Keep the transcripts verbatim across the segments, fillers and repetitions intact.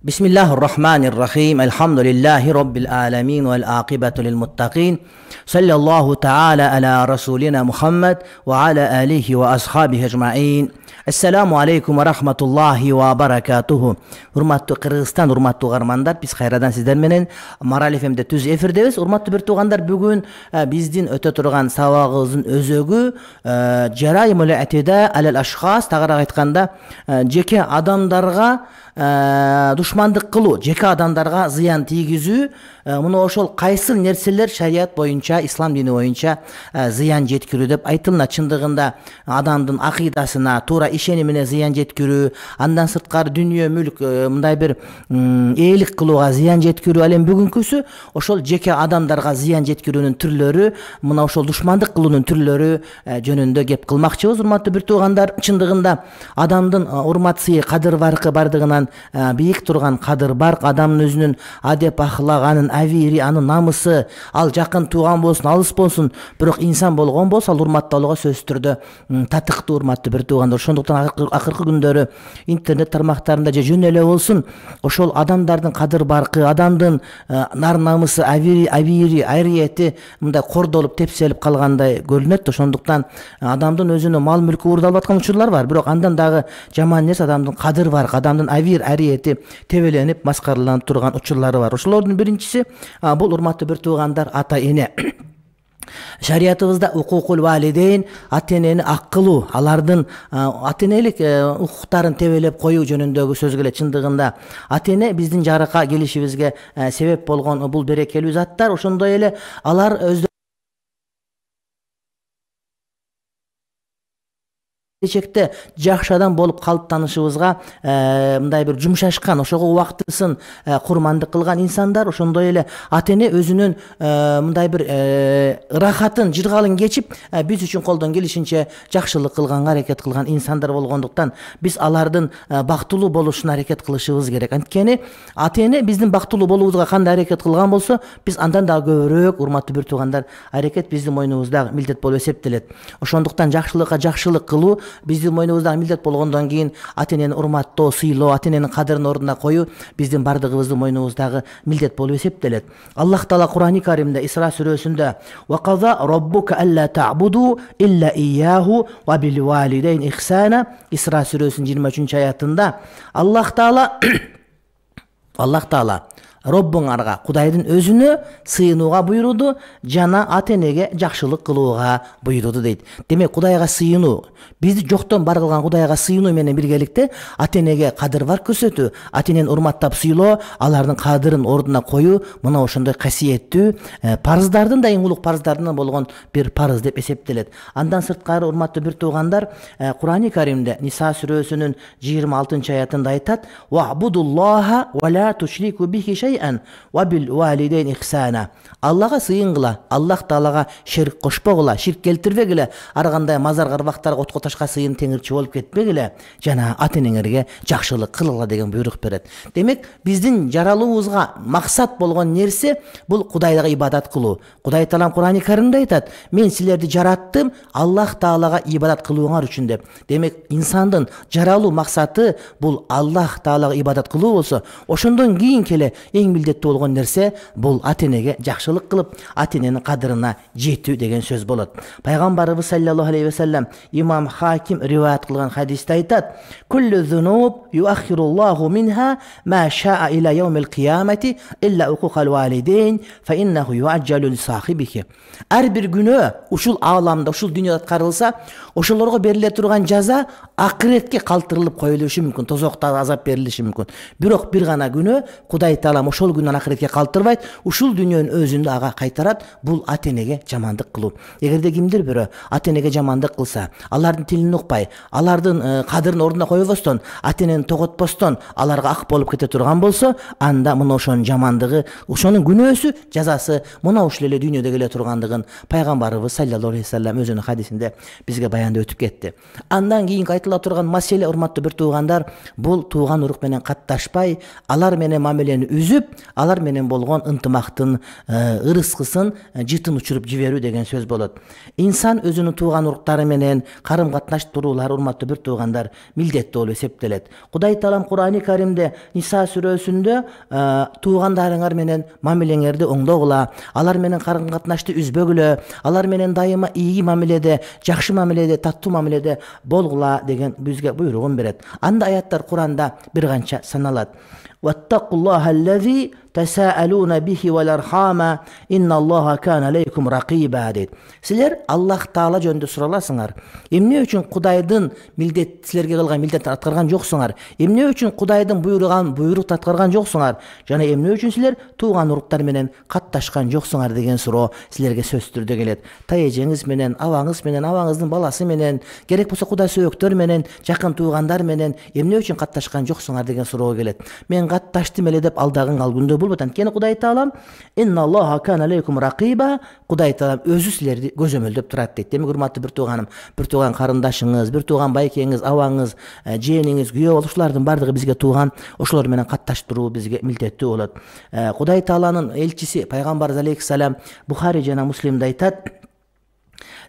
Bismillahirrahmanirrahim. Elhamdülillahi Rabbil alemin vel aqibatu lil muttaqin. Sallallahu ta'ala ala rasulina Muhammed ve ala alihi ve ashabihi ecma'in. Assalamu alaikum ve rahmatullahi ve barakatuhu. Hurmatlı Kırgızstan, hurmatlı ugarmanдар, biz hayradan sizler menen Maral F M'de tüz efirdebиз. Hurmatlı bir tuğanдар, bugün bizdin öte turgan sabagыбыздын özөгү jarayimul i'tida alal ashkhas, tagıraak ayтканда жеке адамдарга душмандык кылуу, жеке адамдарга зыян тийгизүү, муну ошол кайсыл нерселер шарият боюнча, ислам дини боюнча зыян жеткирүү деп айтылына. Чындыгында адамдын акыйдасына, туура ишенимине зыян жеткирүү, андан сырткары дүнүйө мүлк, мындай бир ээлик кылууга зыян жеткирүү, ал эми бүгүнкүсү ошол жеке адамдарга зыян жеткирүүнүн түрлөрү, мына ошол душмандык кылуунун түрлөрү жөнүндө кеп кылмакчыбыз. Урматтуу бир туугандар, чындыгында адамдын урмат сый, кадыр баркы бардыгынан бийик турган кадыр барк, адамдын өзүнүн адеп ахлак, анын авири, анын намысы, ал жакын тууган болсун, алыс болсун, бирок инсан болгон болсо ал урматталууга сөзсүз түрдө татыктуу. Урматтуу бир туугандар, ошондуктан акыркы күндөрү интернет тармактарында же жөн эле болсун ошол адамдардын кадыр баркы, адамдын нар намысы, авири, авири, айриети мындай кордолуп, тепселип калгандай көрүнөт. Ошондуктан адамдын өзүнүн мал мүлкү уурдалып аткан учурлар бар, бирок андан дагы жаман нерсе адамдын кадыр баркы, адамдын авир, ариети тебеленип, маскараланып турган учурлары бар. Ошолордун биринчиси бул, урматтуу бир туугандар, ата эне. Шариятыбызда укукул валидейн, ата энени ак кылуу, алардын ата энелик укуктарын тебелеп коюу жөнүндөгү сөз келет. Чындыгында ата эне биздин жарыка келишибизге себеп болгон бул берекелүү заттар. Ошондой эле алар өздөрү келечекте жакшы адам болуп калыптанышыбызга мындай бир жумшашкан, ошого убактысын курмандык кылган инсандар. Ошондой эле ата эне өзүнүн мындай бир ырахатын, жыргалын кечип биз үчүн колдон келишинче жакшылык кылганга аракет кылган инсандар болгондуктан биз алардын бактылуу болушуна аракет кылышыбыз керек. Анткени ата эне биздин бактылуу болуубузга кандай аракет кылган болсо, биз андан дагы көбүрөөк, урматтуу бир туугандар, аракет биздин мойнубузда милдет болуп эсептелет. Ошондуктан жакшылыкка жакшылык кылуу биздин мойнубузда милдет болгондон кийин ата энени урматтоо, сыйлоо, ата эненин кадырын ордуна коюу биздин бардыгыбыздын мойнубуздагы милдет болуп эсептелет. Аллах Таала Кур'ани Каримде Исра сүрөсүндө "Ва каза раббука алла та'буду илля ияху ва бил валидейн ихсана" Исра сүрөсүнүн жыйырма үчүнчү аятында Аллах Таала Аллах Таала Роббуңарга, Кудайдын өзүнө сыйынууга буйруду, жана ата энеге жакшылык кылууга буйруду дейт. Демек, Кудайга сыйынуу, бизди жоктон бар кылган Кудайга сыйынуу менен биргеликте ата энеге кадыр бар көрсөтүү, ата энени урматтап сыйлоо, алардын кадырын ордуна коюу, мына ошондой касиеттүү парыздардын да эң улук парыздардын болгон бир парыз деп эсептелет. Андан сырткары, урматтуу бир туугандар, Кур'ани Каримде Ниса сүрөсүнүн жыйырма алтынчы аятында айтат: "Вa'будуллаха ва ла тушрику бихи ва бил валидейн ихсана". Аллага сыйынгыла, Аллах Таалага ширк кошпогула, ширк келтирбегиле, ар кандай мазар карбактарга, отко ташка сыйын теңирчи болуп кетпегиле, жана ата энеңерге жакшылык кылгыла деген буйрук берет. Демек, биздин жаралуубузга максат болгон нерсе бул Кудайга ибадат кылуу. Кудай Таалам Кур'ани Каримде айтат: "Мен силерди жараттым Аллах Таалага ибадат кылууңар үчүн" деп. Демек, инсандын жаралуу максаты бул Аллах Таалага ибадат кылуу болсо, ошондон кийин келе эң милдеттүү болгон нерсе бул ата энеге жакшылык кылып, ата эненин кадырына жетүү деген сөз болот. Пайгамбарыбыз саллаллаху алейхи ва саллям имам Хаким риваят кылган хадисте айтат: "Куллу зунуб юаххируллаху минха ма шаа иля яумил киямати илля укукал валидейн фа иннаху юаджалу ли сахибихи". Ар бир күнөө ушул ааламда, ушул дүйнөдө аткарылса, ошолорго бериле турган жаза акыретке калтырылып коюлушу мүмкүн, тозокто азап берилиши мүмкүн. Бирок бир гана күнөө Кудай Таалам ошол күнөн акыретке калтырбайт, ушул дүйнөнүн өзүндө ага кайтарат. Бул ата энеге жамандык кылуу. Эгерде кимдир бирөө ата энеге жамандык кылса, алардын тилин укпай, алардын кадырын ордуна койбостон, ата энени тоготпостон аларга ак болуп кете турган болсо, анда мына ошонун жамандыгы, ошонун күнөөсү, жазасы мына ушул эле дүйнөдө келе тургандыгын Пайгамбарыбыз саллаллаху алейхи ва саллям өзүнүн хадисинде бизге баяндап өтүп кетти. Андан кийинки айтыла турган маселе, урматтуу бир туугандар, бул тууган урук менен катташпай, алар менен мамилени үзүп, үзүп, алар менен болгон ынтымактын ырыскысын жытын учуруп жиберүү деген сөз болот. Инсан өзүнүн тууган уруктары менен карым катнаш туруулары, урматтуу бир туугандар, милдеттүү болуп эсептелет. Кудай Таалам Кур'ани Каримде Ниса сүрөсүндө туугандарыңар менен мамилеңерди оңдогула, алар менен карым катнашты үзбөгүлө, алар менен дайыма ийги мамиледе, жакшы мамиледе, таттуу мамиледе болгула деген бизге буйругун берет. Анда аяттар Кур'анда бир канча саналат. Ваттакуллаха аллази тасаалуна бихи вал архама инналлаха кана алейкум ракиба дейт. Силер Аллах Таала жөнүндө сураласыңар. Эмне үчүн Кудайдын милдет силерге кылган милдетти аткарган жоксуңар? Эмне үчүн Кудайдын буйруган буйрукту аткарган жоксуңар? Жана эмне үчүн силер тууган уруктар менен катташкан жоксуңар деген суроо силерге сөзсүз түрдө келет. Тайэжеңиз менен, абаңыз менен, абаңыздын баласы менен, керек болсо кудай сөөктөр менен, жакын туугандар менен эмне үчүн катташкан жоксуңар деген суроо келет. Мен катташтым эле деп алдаган ал күндө болбойт. Анткени Кудай Таалам инналлаха кана алейкум ракиба, Кудай Таалам өзү силерди көзөмөлдөп турат дейт. Демек урматтуу бир тууганым, бир тууган карындашыңыз, бир тууган байкеңиз, абаңыз, жээниңиз, күйөө болушулардын бардыгы бизге тууган, ошолор менен катташтыруу бизге милдеттүү болот. Кудай Тааланын элчиси пайгамбарыбыз алейхиссалам Бухари жана Муслимде айтат: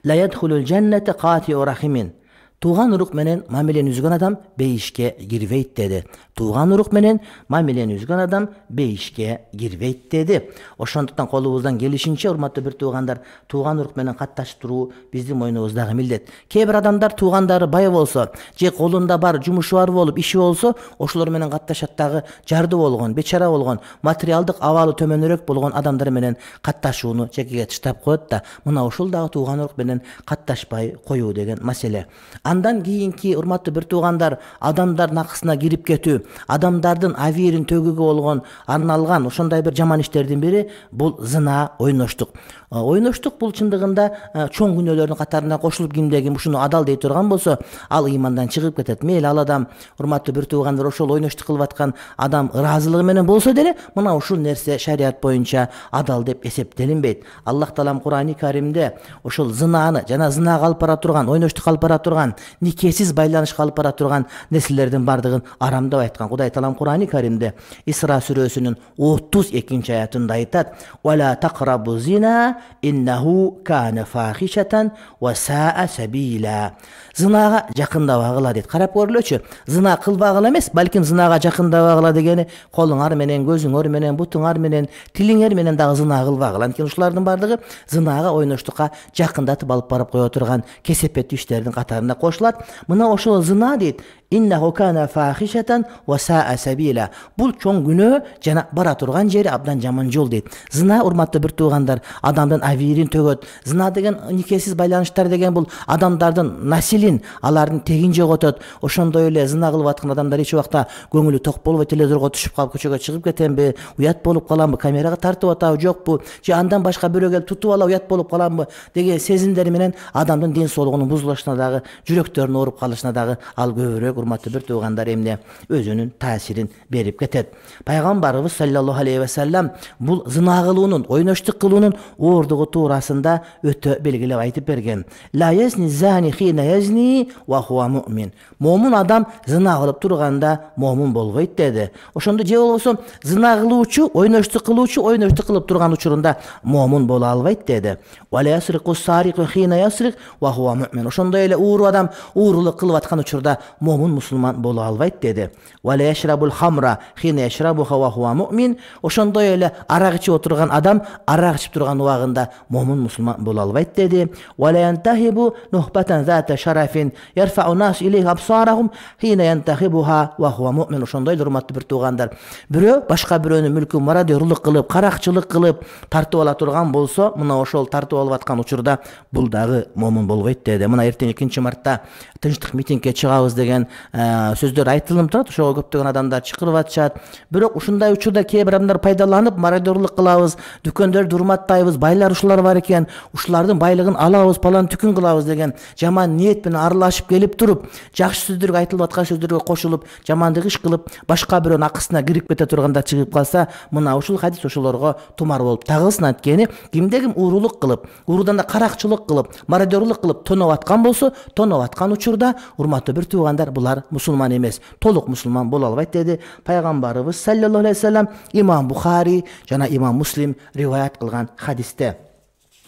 ла ядхулул жанната катиу рахимин. Тууган урук менен мамилени үзгөн адам бейишке кирбейт деди. Тууган урук менен мамилени үзгөн адам бейишке кирбейт деди. Ошондуктан колубуздан келишинче, урматтуу бир туугандар, тууган урук менен катташтыруу биздин мойнубуздагы милдет. Кээ бир адамдар туугандары бай болсо, же колунда бар жумушу бар болуп, иши болсо, ошолор менен катташат дагы жарды болгон, бечара болгон, материалдык абалы төмөнүрөөк болгон адамдар менен катташууну чекеге таштап коет да. Мына ушул дагы тууган урук менен катташпай коюу деген маселе. Андан кийинки, урматтуу бир туугандар, адамдардын акысына кирип кетүү, адамдардын авирин төгүүгө болгон арналган ошондой бир жаман иштердин бири бул зына, ойноштук. Ойноштук бул чындыгында чоң күнөөлөрдүн катарына кошулуп, кимде ким ушуну адал дей турган болсо, ал ыймандан чыгып кетет. Мейли ал адам, урматтуу бир туугандар, ошол ойноштук кылып аткан адам ыраазылыгы менен болсо деле, мына ушул нерсе шарият боюнча адал деп эсептелинбейт. Аллах Таалам Кур'ани Каримде ошол зынаны жана зынага алып бара турган, ойноштук алып бара турган, никесиз байланышка алып бара турган нерселердин бардыгын арамдап айткан. Кудай Таалам Кур'ани Каримде Исра сүрөсүнүн отуз экинчи аятында айтат: "Вала тaqrabu zina иннаху кана фахишатан ва саа сабила." Зынага жакындабагыла дейт. Карап көрүлөчү. Зына кылбагыла эмес, балким зынага жакындабагыла дегени колуңар менен, көзүңөр менен, бутуңар менен, тилиңер менен дагы зына кылбагыла. Анткени ушулардын бардыгы зынага, ойноштукка жакындатып алып барып кое турган кесепеттүү иштердин катарына кошулат. Мына ошол зына дейт. Иннаху кана фахишатан ва саа сабила. Бул чоң күнөө жана бара турган жери абдан жаман жол дейт. Зына, урматтуу бир туугандар, адамдын авирин төгөт. Зына деген, никесиз байланыштар деген бул адамдардын насилин, алардын тегин жоготот. Ошондой эле зына кылып аткан адамдар эч убакта көңүлү ток болбой, телевизорго түшүп калып көчөгө чыгып кетемби, уят болуп каламбы, камерага тартып атабы, жокпу, же андан башка бирөө келип тутуп ала уят болуп каламбы деген сезимдери менен адамдын ден соолугунун бузулушуна дагы, жүрөктөрүнүн ооруп калышына дагы ал көбүрөөк, урматтуу бир туугандар, эмне өзүнүн таасирин берип кетет. Пайгамбарыбыз саллаллаху алейхи ва саллям бул зына кылуунун, ойноштук кылуунун оордугу туурасында өтө белгилеп айтып берген. Ла язни зани хина язни ва хуа муъмин. Момун адам зына кылып турганда момун болбойт деди. Ошондо же болбосо зына кылуучу, ойноштук кылуучу, ойноштук кылып турган учурунда момун боло албайт деди. Ва ла ясриqu sariqu хина ясриq ва хуа муъмин. Ошондой эле ууру адам уурулук кылып аткан учурда момун мусулман боло албайт деди. Ва ла яшрабул хамра хина яшрабуха ва хуа муъмин. Ошондой эле арак ичип отурган адам арак ичип турган убагында момун мусулман боло албайт деди. Ва ла янтахибу нухбатан зата шарафин ярфау нас илейхи абсарахум хина янтахибуха ва хуа муъмин. Ошондой эле, урматтуу бир туугандар, бирөө башка бирөөнүн мүлкүн мародёрлук кылып, каракчылык кылып тартып ала турган болсо, мына ошол тартып алып аткан учурда бул дагы момун болбойт деди. Мына эртең экинчи мартта тынчтык митингге чыгабыз деген сөздөр айтылып турат. Ошого көптөгөн адамдар чакырып атышат. Бирок ушундай учурда кээ бир адамдар пайдаланып мародёрлук кылабыз, дүкөндөрдү урматтайбыз, байлар ушулар бар экен, ушулардын байлыгын алабыз, палан түкүн кылабыз деген жаман ниет менен аралашып келип туруп, жакшы сөздөргө, айтылып аткан сөздөргө кошулуп, жамандык иш кылып, башка бирөөнүн акысына кирип кете турганда чыгып калса, мына ушул хадис ошолорго тумар болуп тагылсын. Анткени кимде ким уурулук кылып, уурудан да каракчылык кылып, мародёрлук кылып тоноп аткан болсо, тоноп кыйналып аткан учурда, урматтуу бир туугандар, булар мусулман эмес, толук мусулман боло албайт деди пайгамбарыбыз саллаллаху алейхи вассалам имам Бухари жана имам Муслим риваят кылган хадисте.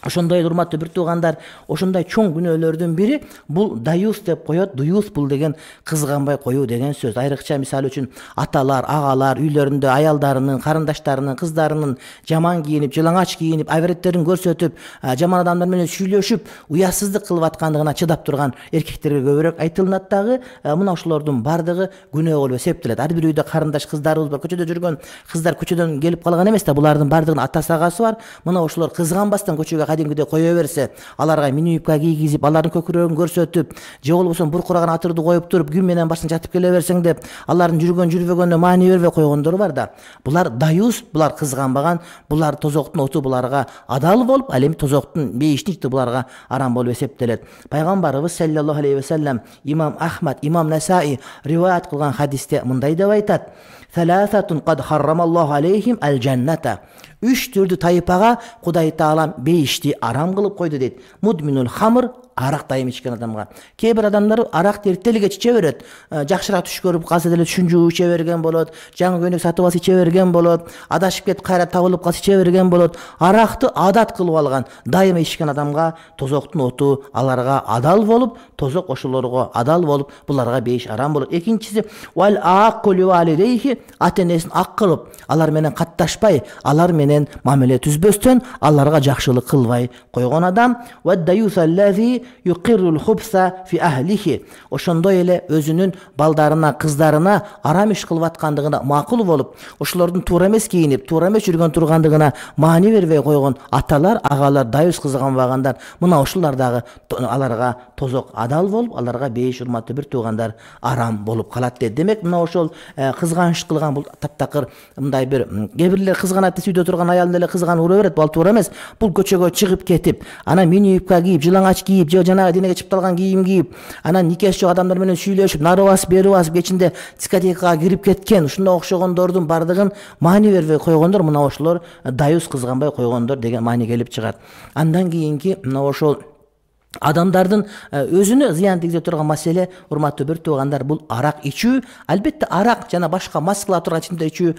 Ошондой эле урматтуу бир туугандар, ошондой чоң күнөөлөрдүн бири бул даюс деп коет. Дуюс бул деген кызганбай коюу деген сөз. Айрыкча мисалы үчүн аталар, агалар үйлөрүндө аялдарынын, карындаштарынын, кыздарынын жаман кийинип, жылаңач кийинип, авреттерин көрсөтүп, жаман адамдар менен сүйлөшүп, уятсыздык кылып аткандыгына чыдап турган эркектерге көбүрөөк айтылат дагы. Мына ошолордун бардыгы күнөө болуп эсептелет. Ар бир үйдө карындаш кыздарыбыз бар, көчөдө жүргөн кыздар көчөдөн келип калган эмес да, булардын бардыгынын атасы агасы бар. Мына ошолор кызганбастан көчөгө кадимгидей кое берсе, аларга мини юбка кийгизип, алардын көкүрөгүн көрсөтүп, же болбосо буркураган атырды коюп туруп, күн менен башын жатып келе берсең деп, алардын жүргөн жүрбөгөнүнө маани бербей койгондор бар да. Булар даюс, булар кызганбаган, булар тозоктун оту буларга адал болуп, ал эми тозоктун бейиштин ичти буларга арам болуп эсептелет. Пайгамбарыбыз саллаллаху алейхи вассалам имам Ахмад, имам Насаи риваят кылган хадисте мындай деп айтат: "Саласатун кад харрамаллаху алейхим аль-джанната." Үч түрдүү тайпага Кудай Таалам бейишти арам кылып койду дейт. Мудминул хамр, арак дайым ичкен адамга. Кээ бир адамдар аракты эртелге иче берет. Жакшыраак түш көрүп калса деле түшүнчү иче берген болот, жаңы көйнөк сатып алса иче берген болот, адашып кетип кайра табылып калса иче берген болот. Аракты адат кылып алган, дайыма ичкен адамга тозоктун оту аларга адал болуп, тозок ошолорго адал болуп, буларга бейиш арам болот. Экинчиси вал акулу валидейхи, ата-энесин ак кылып, алар менен катташпай, алар менен мамиле түзбөстөн, аларга жакшылык кылбай койгон адам. Ва даюсаллази юқиррул хубса фи ахлихи. Ошондой эле өзүнүн балдарына, кыздарына арам иш кылып аткандыгына макул болуп, ошолордун туура эмес кийинип, туура эмес жүргөн тургандыгына маани бербей койгон аталар, агалар, даюс кызганбагандар, мына ошолор дагы аларга тозок адал болуп, аларга бейиш урматтуу бир туугандар арам болуп калат дейт. Демек, мына ошол кызганыш кылган бул таптакыр мындай бир кээ бирлер кызганат десе, үйдө турган аялын эле кызганып ура берет. Бул туура эмес. Бул көчөгө чыгып кетип, анан мини юбка кийип, жылаңач кийип, же жанагы денеге чыпталган кийим кийип, анан никеси жок адамдар менен сүйлөшүп, нары басып, бери басып, кечинде дискотекага кирип кеткен, ушундай окшогондордун бардыгын маани бербей койгондор, мына ошолор даюс кызганбай койгондор деген маани келип чыгат. Андан кийинки мына ошол адамдардын өзүнө зыян тийгизе турган маселе, урматтуу бир туугандар, бул арак ичүү. Албетте арак жана башка мас кыла турган ичимдик ичүү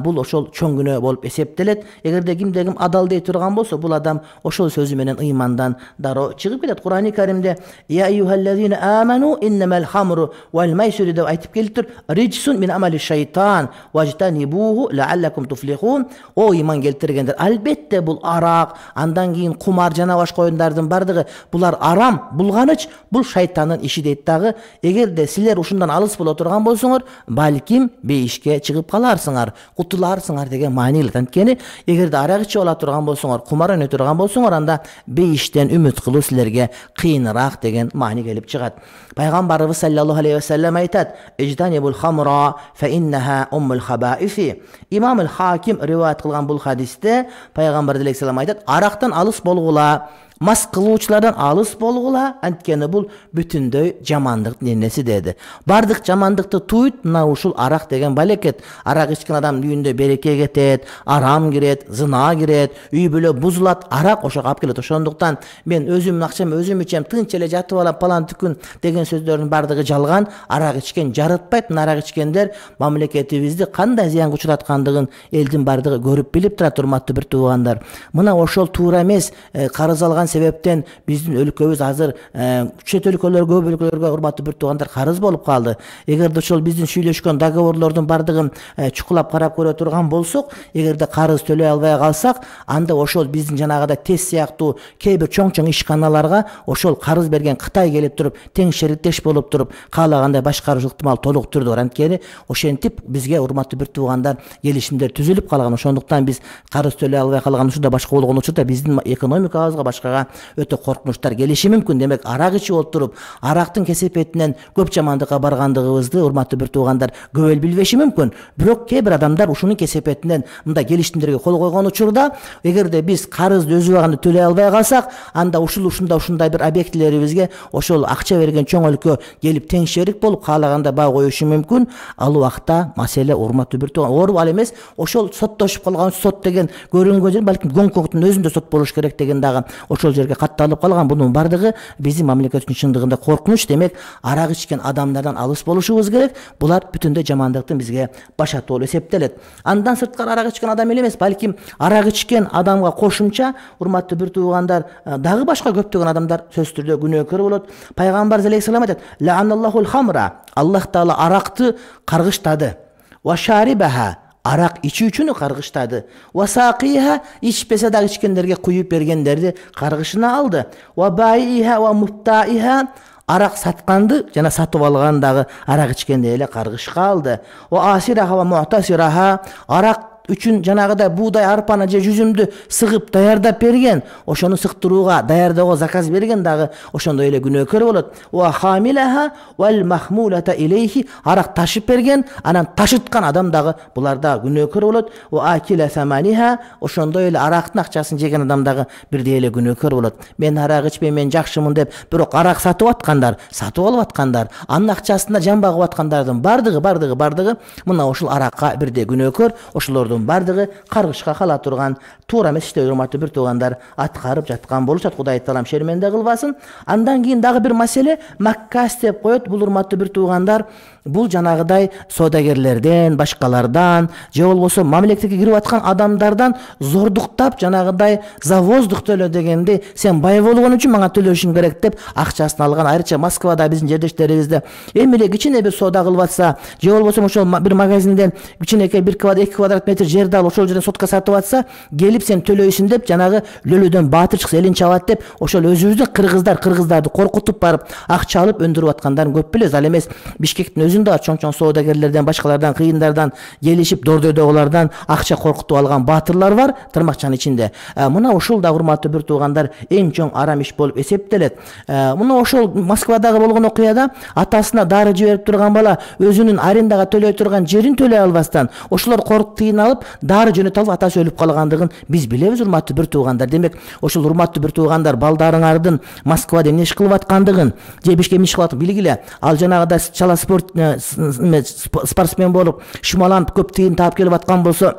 бул ошол чоң күнөө болуп эсептелет. Эгерде кимде ким адал дей турган болсо, бул адам ошол сөзү менен ыймандан дароо чыгып кетет. Кур'ани Каримде я айюхаллазина аману иннамал хамру вал майсиру деп айтып келиптир. Риджсун мин амали шайтан важтанибуху лааллакум туфлихун. О ыйман келтиргендер, албетте бул арак, андан кийин кумар жана башка оюндардын бардыгы булар арам, булганыч, бул шайтандын иши дейт дагы. Эгерде силер ушундан алыс боло турган болсоңор, балким бейишке чыгып каларсыңар, кутуларсыңар деген маани келет. Анткени эгерде арак ичип ала турган болсоңор, кумар ойной турган болсоңор, анда бейиштен үмүт кылуу силерге кыйыныраак деген маани келип чыгат. Пайгамбарыбыз саллаллаху алейхи вассалам айтат: "Ижтанибул хамра фа иннаха уммул хабаифи." Имам аль-Хаким риваят кылган бул хадисте пайгамбар алейхиссалам айтат: "Арактан алыс болгула, мас кылуучулардан алыс болгула, анткени бул бүтүндөй жамандыктын энеси" деди. Бардык жамандыкты туйт мына ушул арак деген балекет. Арак ичкен адамдын үйүндө береке кетет, арам кирет, зына кирет, үй бүлө бузулат, арак ошого алып келет. Ошондуктан мен өзүмдүн акчам өзүм ичем, тынч эле жатып алам, палан түкүн деген сөздөрдүн бардыгы жалган. Арак ичкен жарытпайт. Арак ичкендер мамлекетибизди кандай зыянга учураткандыгын элдин бардыгы көрүп билип турат, урматтуу бир туугандар. Мына ошол туура эмес, карыз алган себептен биздин өлкөбүз азыр чет өлкөлөр, көп өлкөлөргө урматтуу бир туугандар карыз болуп калды. Эгерде ошол биздин сүйлөшкөн договорлордун бардыгын чукулап карап көрө турган болсок, эгерде карыз төлөй албай калсак, анда ошол биздин жанагыда тез сыяктуу кээ бир чоң-чоң ишканаларга ошол карыз берген Кытай келип туруп, тең шериктеш болуп туруп, каалагандай башкарыш ыктымал толук түрдө бар. Анткени ошентип бизге урматтуу бир туугандар келишимдер түзүлүп калган. Ошондуктан биз карыз төлөй албай калган учурда, башка болгон учурда биздин экономикабызга, башкага өтө коркунучтар келиши мүмкүн. Демек, арак ичип отуруп, арактын кесепетинен көп жамандыкка баргандыгыбызды урматтуу бир туугандар көп эл билбеши мүмкүн. Бирок кээ бир адамдар ушунун кесепетинен мындай келишимдерге кол койгон учурда, эгерде биз карызды өз убагында төлөй албай калсак, анда ушул ушундай ушундай бир объектилерибизге ошол акча берген чоң өлкө келип тең шерик болуп каалаганда баа коюшу мүмкүн. Ал убакта маселе урматтуу бир тууган ооруп ал эмес, ошол соттошуп калган сот деген көрүнгөн жер балким Гонконгдун өзүндө сот болуш керек деген дагы ошол ошол жерге катталып калган. Бунун бардыгы биздин мамлекет үчүн чындыгында коркунуч. Демек, арак ичкен адамдардан алыс болушубуз керек. Булар бүтүндөй жамандыктын бизге башаты болуп эсептелет. Андан сырткары арак ичкен адам эле эмес, балким арак ичкен адамга кошумча, урматтуу бир туугандар, дагы башка көптөгөн адамдар сөзсүз түрдө күнөөкөр болот. Пайгамбар алейхиссалам айтат: "Ла'аналлахул хамра", Аллах таала аракты каргыштады. "Ва шарибаха", арак ичүүчүнү каргыштады. "Ва сaqиha", ичпесе дагы ичкендерге куюп бергендерди каргышына алды. "Ва баиha ва муптаиha", арак сатканды жана сатып алган дагы арак ичкенди эле каргышка алды. "Ва асираха ва му'тасираха", арак үчүн жанагыдай буудай, арпаны же жүзүмдү сыгып даярдап берген, ошону сыктырууга, даярдоого заказ берген дагы ошондой эле күнөөкөр болот. "Ва хамилаха вал махмулата илейхи", арак ташып берген, анан ташыткан адам дагы булар дагы күнөөкөр болот. "Ва акила саманиха", ошондой эле арактын акчасын жеген адам дагы бирдей эле күнөөкөр болот. Мен арак ичпейм, мен жакшымын деп, бирок арак сатып аткандар, сатып алып аткандар, анын акчасына жан багып аткандардын бардыгы, бардыгы, бардыгы мына ушул аракка бирдей күнөөкөр, ошолордун бардыгы каргышка кала турган туура эмес иштер, урматтуу бир туугандар, аткарып жаткан болушат. Кудай таалам шерменде кылбасын. Андан кийин дагы бир маселе маккас деп коет. Бул урматтуу бир туугандар, бул жанагыдай соодагерлерден, башкалардан, же болбосо мамлекетке кирип аткан адамдардан зордуктап, жанагыдай завоздук төлө дегенди, сен бай болгон үчүн мага төлөшүң керек деп акчасын алган. Айрыкча Москвада биздин жердештерибизде эми эле кичине бир соода кылып атса, же болбосо ошол бир магазинден кичинекей бир квадрат, эки квадрат метр жерди алып ошол жерден сотка сатып атса, келип сен төлөйсүң деп жанагы лөлөдөн баатыр чыкса элин чабат деп, ошол өзүбүздүн кыргыздар кыргыздарды коркутуп барып акча алып өндүрүп аткандарын көп билебиз. Ал эмес Бишкектин өзүндө чоң-чоң соодагерлерден, башкалардан, кыйындардан келишип дордойдогулардан акча коркутуп алган баатырлар бар, тырмакчанын ичинде. Мына ушул да урматтуу бир туугандар эң чоң арам иш болуп эсептелет. Мына ошол Москвадагы болгон окуяда атасына дары жиберип турган бала өзүнүн арендага төлөй турган жерин төлөй албастан ошолор коркуп тыйналып дары жөнөтө алып атасы өлүп калгандыгын биз билебиз, урматтуу бир туугандар. Демек, ошол урматтуу бир туугандар балдарыңардын Москвада эмне иш кылып аткандыгын, же Бишкекте эмне иш кылып аткандыгын билгиле. Ал жанагыдай чала спорт спортсмен болуп, шумаланып көп тыйын таап келип аткан болсо,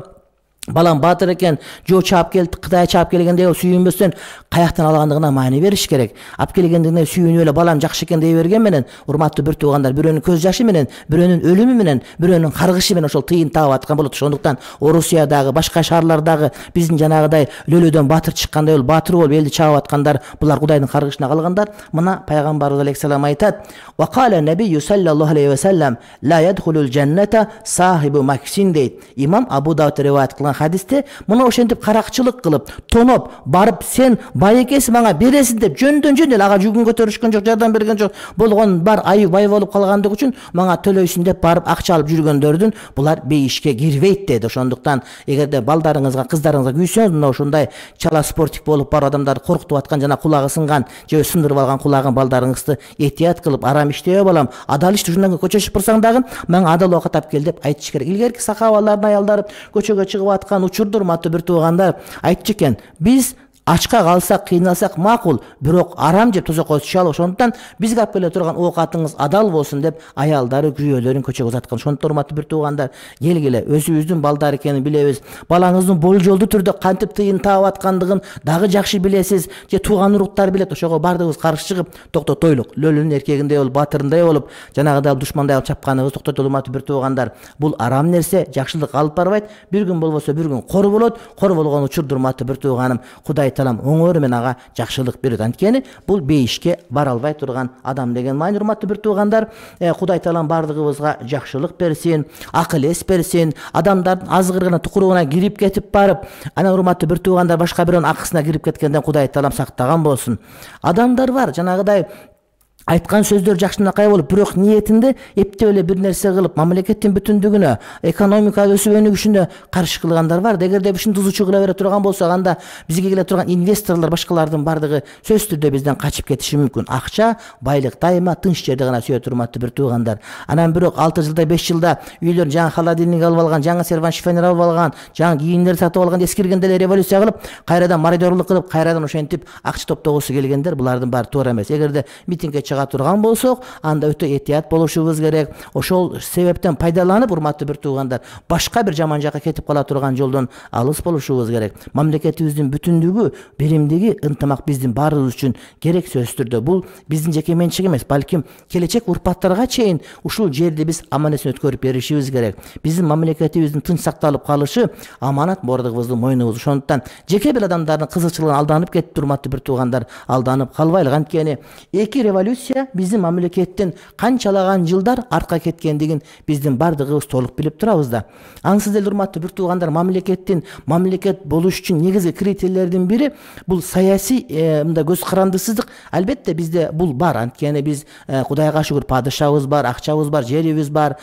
балам баатыр экен, жоо чаап келип, Кытай чаап келгенде сүйүнбөстөн каяктан алгандыгына маани бериш керек. Алып келгендигине сүйүнүп эле балам жакшы экен дей берген менен, урматтуу бир туугандар, бирөөнүн көз жашы менен, бирөөнүн өлүмү менен, бирөөнүн каргышы менен ошол тыйын таап аткан болот. Ошондуктан Орусиядагы, башка шаарлардагы биздин жанагыдай лөлөдөн баатыр чыккандай болуп, баатыр болуп элди чаап аткандар, булар Кудайдын каргышына калгандар. Мына пайгамбарыбыз алейхиссалам айтат: "Ва кала набийю саллаллаху алейхи ва саллам ла ядхулул джанната сахибу максин" дейт. Имам Абу Дауд риваят кылган хадисте, мына ошентип каракчылык кылып, тоноп барып, сен бай экенсиң мага бересиң деп жөндөн жөн эле ага жүгүн көтөрүшкөн жок, жардам берген жок, болгон бар айы бай болуп калгандыгы үчүн мага төлөйсүң деп барып акча алып жүргөндөрдүн булар бейишке кирбейт деди. Ошондуктан эгерде балдарыңызга, кыздарыңызга күйсөңүз, мына ушундай чала спортик болуп барып адамдарды коркутуп аткан жана кулагы сынган же сындырып алган кулагын балдарыңызды эhtiyat кылып, арам иштебей балам, адал ишти ушундан көчө чыгып турсаң дагы мага адал оокат алып кел деп айтыш керек. Илгерки сахабалардын аялдары көчөгө чыгып аткан учурда урматтуу бир туугандар айтчу экен: биз ачка калсак, кыйналсак макул, бирок арам жеп тозокко түшө албайбыз. Ошондуктан бизге алып келе турган оокатыңыз адал болсун деп аялдары, күйөөлөрүн көчөгө узаткан. Ошондуктан урматтуу бир туугандар, келгиле, өзүбүздүн балдар экенин билебиз. Балаңыздын болжолдуу түрдө кантип тыйын таап аткандыгын дагы жакшы билесиз, же тууган уруктар билет. Ошого бардыгыбыз каршы чыгып, токтотойлук. Лөлүнүн эркегиндей болуп, баатырындай болуп, жанагыдай душмандай алып чапканыбыз токтотолу, урматтуу бир туугандар. Бул арам нерсе, жакшылык алып барбайт. Бир күн болбосо бир күн кор болот. Кор болгон учурда урматтуу бир тууганым, Кудай таалам оңору менен ага жакшылык берет. Анткени бул бейишке бара албай турган адам деген маани. Урматтуу бир туугандар, Кудай таалам бардыгыбызга жакшылык берсин, акыл эс берсин. Адамдардын азгырыгына, тукуругуна кирип кетип барып, анан урматтуу бир туугандар башка бирөөнүн акысына кирип кеткенден Кудай таалам сактаган болсун. Адамдар бар, жанагыдай айткан сөздөр жакшынакай болуп, бирок ниетинде эптеп эле бир нерсе кылып, мамлекеттин бүтүндүгүнө, экономика өсүп өнүгүшүнө каршы кылгандар бар. Эгерде ушун тузучу кыла бере турган болсок, анда бизге келе турган инвесторлор, башкалардын бардыгы сөзсүз түрдө бизден качып кетиши мүмкүн. Акча, байлык дайыма тынч жерде гана сүйөт, урматтуу бир туугандар. Анан бирок алты жылда, беш жылда үйлөрүн жаңы холодильник алып алган, жаңы серван шифонер алып алган, жаңы кийимдер сатып алган, эскиргенде эле революция кылып, кайрадан мародёрлук кылып, кайрадан ошентип акча топтогусу келгендер, булардын баары туура эмес. Эгерде митингге чыга турган болсок, анда өтө этият болушубуз керек. Ошол себептен пайдаланып, урматтуу бир туугандар, башка бир жаман жакка кетип кала турган жолдон алыс болушубуз керек. Мамлекетибиздин бүтүндүгү, биримдиги, ынтымак биздин баарыбыз үчүн керек сөзсүз түрдө. Бул биздин жеке менчик эмес, балким келечек урпактарга чейин ушул жерди биз аманатын өткөрүп беришибиз керек. Биздин мамлекетибиздин тынч сакталып калышы аманат бордугубуздун мойнубуз. Ошондуктан жеке бир адамдардын кызыкчылыгына алданып кетип, урматтуу бир туугандар, алданып калбайлык. Анткени эки революция биздин мамлекеттин канчалаган жылдар артка кеткендигин биздин бардыгыбыз толук билип турабыз да. Ансыз эле, урматтуу бир туугандар, мамлекеттин мамлекет болуш үчүн негизги критерийлердин бири бул саясий мындай көз карандысыздык. Албетте бизде бул бар. Анткени биз Кудайга шүгүр падышабыз бар, акчабыз бар, жерибиз бар.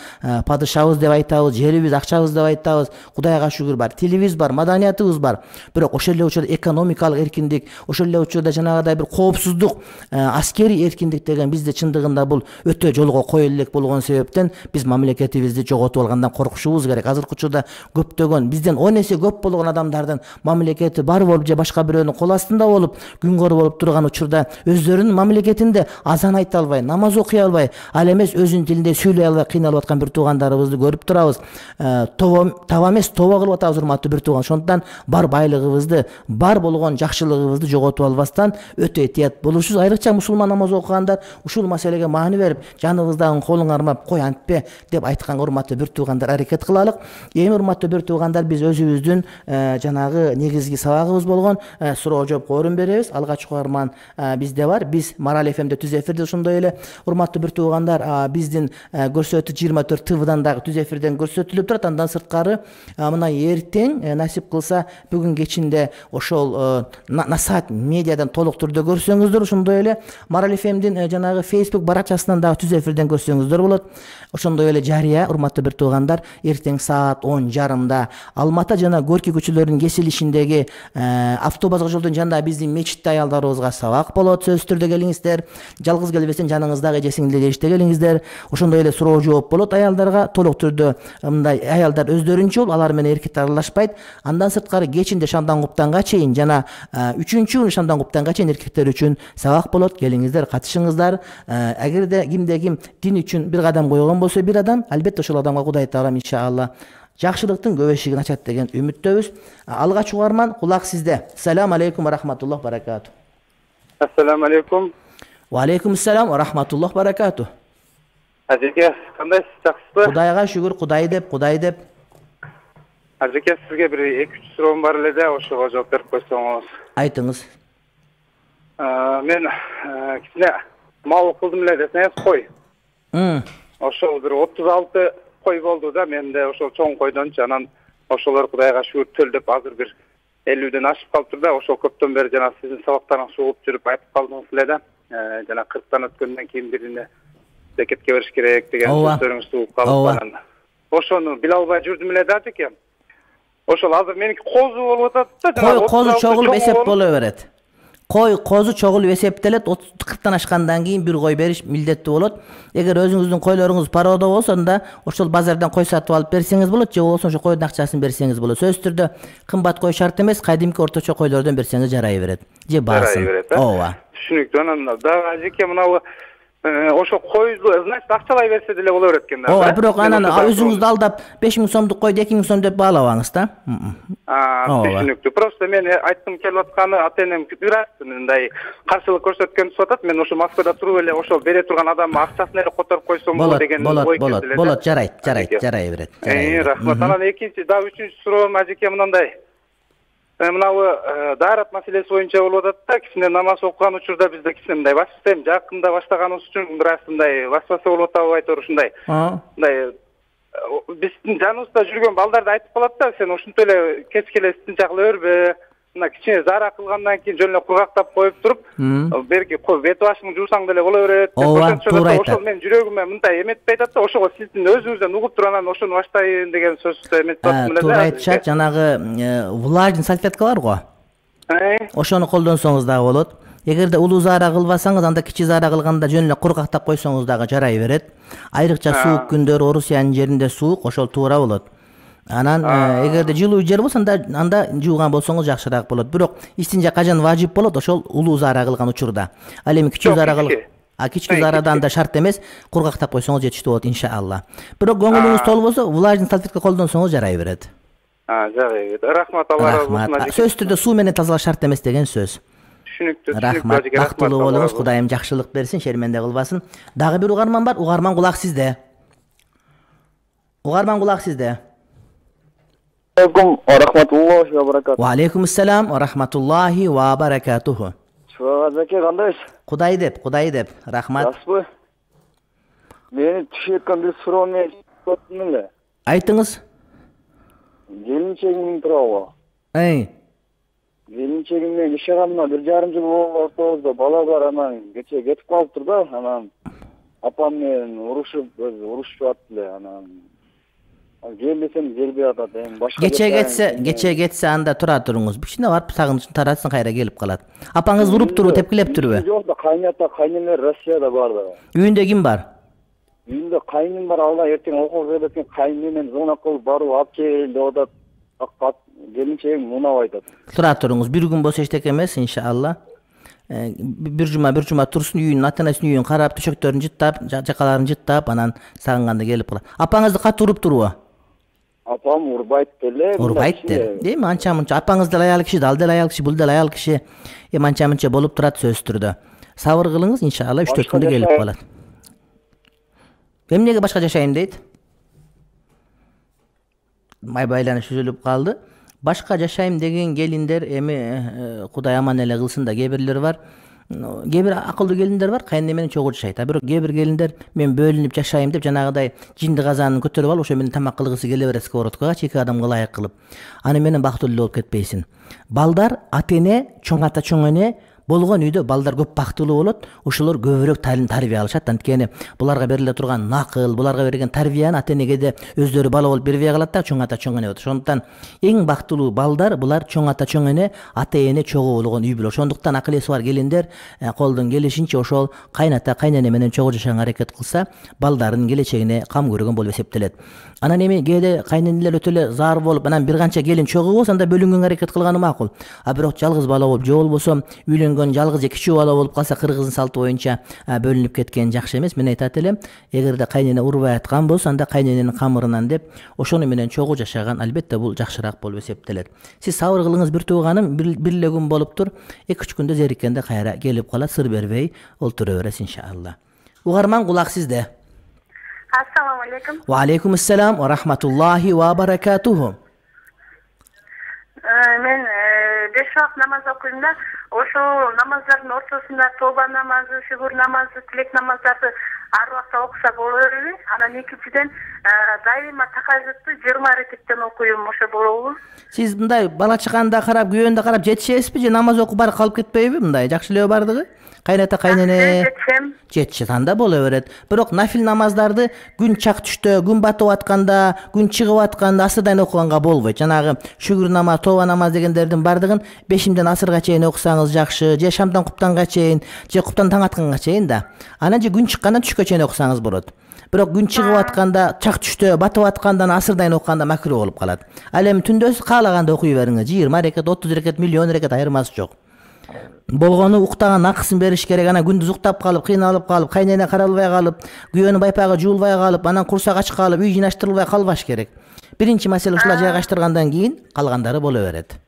Падышабыз деп айтабыз, жерибиз, акчабыз деп айтабыз. Кудайга шүгүр бар, тилибиз бар, маданиятыбыз бар. Бирок ошол эле учурда экономикалык эркиндик, ошол эле учурда жанагыдай бир коопсуздук, аскерий эркиндик деген бизде чындыгында бул өтө жолго кое элек болгон себептен биз мамлекетибизди жоготуп алгандан коркушубуз керек. Азыркы учурда көптөгөн бизден он эсе көп болгон адамдардын мамлекети бар болуп же башка бирөөнүн кол астында болуп, күнгөр болуп турган учурда өздөрүнүн мамлекетинде азан айта албай, намаз окуй албай, ал эмес өзүнүн тилинде сүйлөй албай кыйналып аткан бир туугандарыбызды көрүп турабыз. Таба эмес, тоба кылып атабыз, урматтуу бир тууган. Ошондуктан бар байлыгыбызды, бар болгон жакшылыгыбызды жоготуп албастан өтө этият болушубуз. Айрыкча мусулман намаз окугандар ушул маселеге маани берип, жаныбыздагы колуң армап, кой антпе деп айтканга, урматтуу бир туугандар, аракет кылалык. Эми, урматтуу бир туугандар, биз өзүбүздүн жанагы негизги сабагыбыз болгон суроо жоопко орун беребиз. Алгач угарман бизде бар. Биз Марал эф эмде түз эфирде, ошондой эле, урматтуу бир туугандар, биздин көрсөтүү жыйырма төрт ТВдан дагы түз эфирден көрсөтүлүп турат. Андан сырткары мына эртең насип кылса бүгүн кечинде ошол Насаат медиадан толук түрдө көрсөңүздөр, ошондой эле Марал эф эмдин жанагы Facebook баракчасынан дагы түз эфирден көрсөңүздөр болот. Ошондой эле жарыя, урматтуу бир туугандар, эртең саат он жарымда Алматы жана Горький көчөлөрүнүн кесилишиндеги автобус жолдун жанында биздин мечитте аялдарыбызга сабак болот. Сөзсүз түрдө келиңиздер. Жалгыз келбесең, жаныңыздагы эже сиңдилерге иште келиңиздер. Ошондой эле суроо жооп болот аялдарга, толук түрдө мындай аялдар өздөрүнчө болуп, алар менен эркектер аралашпайт. Андан сырткары кечинде шамдан куптанга чейин жана үчүнчү күнү шамдан куптанга чейин эркектер үчүн сабак болот. Келиңиздер, катышыңыздар. Эгерде кимде ким дин үчүн бир кадам койгон болсо, бир адам, албетте ошол адамга Кудай таалам иншалла жакшылыктын көп эшигин ачат деген үмүттөбүз. Алгач угарман, кулак сизде. Ассаламу алейкум ва рахматуллах баракату. Ассаламу алейкум. Ва алейкум ассалам ва рахматуллах баракату. Ажеке, кандайсыз, жакшысызбы? Кудайга шүгүр, Кудай деп, Кудай деп. Ажеке, сизге бир эки үч суроом бар эле да, ошого жооп берип койсоңуз. Айтыңыз. Мен кичине мал кылдым эле десеңиз, кой. Ошол бир отуз алты кой болду да, менде ошол чоң койдончу. Анан ошолор Кудайга шүгүр төлдөп азыр бир элүүдөн ашып калыптыр да. Ошол көптөн бери жана сиздин сабактарыңызды угуп жүрүп айтып калдыңыз эле да. Жана кырктан өткөндөн кийин бирине зекетке бериш керек деген сөздөрүңүздү угуп калып, ошону биле албай жүрдүм эле да, ажеке. Ошол азыр меники козу болуп атат да. Кой козу чогулуп эсеп боло берет. Кой козу чогулуп эсептелет. кырктан ашкандан кийин бир кой бериш милдеттүү болот. Эгер өзүңүздүн койлоруңуз пароодо болсо, анда ошол базардан кой сатып алып берсеңиз болот, же болбосо ошо койдун акчасын берсеңиз болот. Сөзсүз түрдө кымбат кой шарт эмес, кайдимки орточо койлордон берсеңиз жарай берет. Же баасын. Ооба. Түшүнүктүү. Анан дагы ажеке, мынабу ошо койду, значит, акчалай берсе деле боло берет экен да. Ооба, бирок анан өзүңүздү алдап беш миң сомдук койду эки миң сом деп баалабаңыз да. Түшүнүктүү. Просто мен айткым келип атканы, ата-энем бираз мындай каршылык көрсөткөн туруп атат. Мен ошо Москвада туруп эле ошол бере турган адамдын акчасын эле которуп койсом болот деген ой келди эле. Болот, жарайт, жарайт, жарай берет. Э, рахмат. Анан экинчи, дагы үчүнчү суроом ажеке мындай. Мынабы даарат маселеси боюнча болуп атат да. Кичине намаз окуган учурда бизде кичине мындай басым жакында баштаганыбыз үчүн бир аз мындай васваса болуп атабы айтор ушундай. Мындай биздин жаныбызда жүргөн балдарды айтып калат да, сен ушинтип эле кеч келе тынчакла өрбө. Мына кичине зара кылгандан кийин жөн эле кургактап коюп туруп, берки бет башыңды жуусаң деле боло берет. Ошол мен жүрөгүмө мындай эметпей атат да, ошого сиздин өзүңүздөн угуп туруп анан ошону баштайын деген сөздү эметип атам эле да. Туура айтышат, жанагы влажный салфеткалар го. Ошону колдонсоңуз дагы болот. Эгерде улуу зара кылбасаңыз, анда кичи зара кылганда жөн эле кургактап койсоңуз дагы жарай берет. Айрыкча суук күндөр, Орусиянын жеринде суук, ошол туура болот. Анан эгерде жылуу жер болсо, анда анда жууган болсоңуз жакшыраак болот. Бирок истинжа кажан важип болот, ошол улуу зара кылган учурда. Ал эми кичүү зара кыл. А кички зарадан да шарт эмес, кургактап койсоңуз жетиштүү болот иншалла. Бирок көңүлүңүз толбосо, влажный салфетка колдонсоңуз жарай берет. А, жарай берет. Рахмат, Алла разы болсун. Сөзсүз түрдө суу менен тазалаш шарт эмес деген сөз. Түшүнүктүү, түшүнүктүү. Рахмат, бактылуу болуңуз, Кудайым жакшылык берсин, шерменде кылбасын. Дагы бир угарман бар, угарман кулак сизде. Угарман кулак сизде. Алейкум ва рахматуллахи ва баракатуху. Ва алейкум ассалам ва рахматуллахи ва баракатуху. Шугазаке кандайсыз? Кудай деп, Кудай деп. Рахмат. Жакшыбы? Мени түшүп аткан бир суроо менен өттүм эле. Айтыңыз. Келинчегим тууралуу. Эй. Келинчегим менен жашаганына бир жарым жыл болду, ортобузда бала бар, анан кечээ кетип калыптыр да, анан апам менен урушуп, урушуп атты эле, анан кел десем келбей атат. Эми башка Кечээ кетсе, кечээ кетсе анда тура туруңуз. Кичине барып сагынычын таратсын, кайра келип калат. Апаңыз уруптурбу, тепкилептирби? Жок да, кайната, кайнелер Россияда бар да. Үйүндө ким бар? Үйүндө кайным бар, алла эртең окууга кеткен кайным менен звонок кылып барып алып кел деп атат. Келинчегим мунап айтат. Тура туруңуз, бир күн болсо эчтеке эмес, иншалла. Бир жума, бир жума турсун, үйүнүн, ата-энесинин үйүн карап, төшөктөрүн жыттап, жакаларын жыттап, анан сагынганда келип калат. Апаңызды катуу уруптурбу? Апам урбайт деле. Урбайт деле. Эми анча-мынча апаңыз деле аял киши, ал деле аял киши, бул деле аял киши. Эми анча-мынча болуп турат сөзсүз түрдө. Сабыр кылыңыз, иншалла үч төрт күндө келип калат. Эмнеге башка жашайм дейт? Май байланыш үзүлүп калды. Башка жашайм деген келиндер эми Кудай аман эле кылсын да, кээ бирлер бар. Кээ бир акылдуу келиндер бар, кайын менен чогуу жашайт. А бирок кээ бир келиндер мен бөлүнүп жашайм деп жанагыдай жинди казанын көтөрүп алып, ошо менен тамак кылгысы келе берет сковородкага, эки адамга ылайык кылып. Аны менен бактылуу болуп кетпейсиң. Балдар ата-эне, чоң ата, чоң эне болгон үйдө балдар көп бактылуу болот, ошолор көбүрөөк талим тарбия алышат. Анткени буларга бериле турган накыл, буларга берилген тарбияны ата-энеге да өздөрү бала болуп бербей калат да, чоң ата, чоң эне болот. Ошондуктан эң бактылуу балдар булар чоң ата, чоң эне, ата-эне чогуу болгон үй болот. Ошондуктан акыл эси бар келиндер колдон келишинче ошол кайната, кайнене менен чогуу жашаганга аракет кылса, балдардын келечегине кам көргөн болуп эсептелет. Анан эми кээде кайненелер өтө эле зар болуп, анан бир канча келин чогуу болсо, анда бөлүнгөнгө аракет кылганы макул. А бирок жалгыз бала болуп, же болбосо үйлөнгөн жалгыз же кичүү бала болуп калса, кыргыздын салты боюнча бөлүнүп кеткен жакшы эмес. Мен айтат элем, эгерде кайнене урбай аткан болсо, анда кайнененин камырынан деп, ошону менен чогуу жашаган албетте бул жакшыраак болуп эсептелет. Сиз сабыр кылыңыз, бир тууганым, бир эле күн болуптур, эки үч күндө зериккенде кайра келип калат, сыр бербей олтура бересиз иншалла. Угарман кулак сизде. Ассаламу алейкум. Ва алейкум ассалам ва рахматуллахи ва баракатуху. Мен беш вакыт намаз окуйм да, ошол намаздардын ортосунда тоба намазы, шүгүр намазы, тилек намаздарды ар убакта окуса боло береби? Анан экинчиден дайыма тахажжудту жыйырма рекеттен окуйм, ошо болобу? Сиз мындай бала чаканда карап, күйөөндө карап жетишесизби же намаз окуп барып калып кетпейби? Мындай жакшы эле бардыгы? Кайната, кайнене жетишет, анда боло берет. Бирок нафил намаздарды күн чак түштө, күн батып атканда, күн чыгып атканда асырдан окуганга болбойт. Жанагы шүгүр намаз, тоба намаз дегендердин бардыгын бешимден асырга чейин окусаңыз жакшы, же шамдан куптанга чейин, же куптан таң атканга чейин да. Анан же күн чыккандан түшкө чейин окусаңыз болот. Бирок күн чыгып атканда, чак түштө, батып аткандан асырдан окуганда макруh болуп калат. Ал эми түндөсү каалаганда окуй бериңиз. жыйырма рекет, отуз рекет, миллион рекет айырмасы жок. Болгону уктаган акысын бериш керек. Анан күндүз уктап калып, кыйналып калып, кайнене каралбай калып, күйөөнүн байпагы жуулбай калып, анан курсак ачып калып, үй жыйнаштырылбай калбаш керек. Биринчи маселе ушулар жайгаштыргандан кийин калгандары боло берет.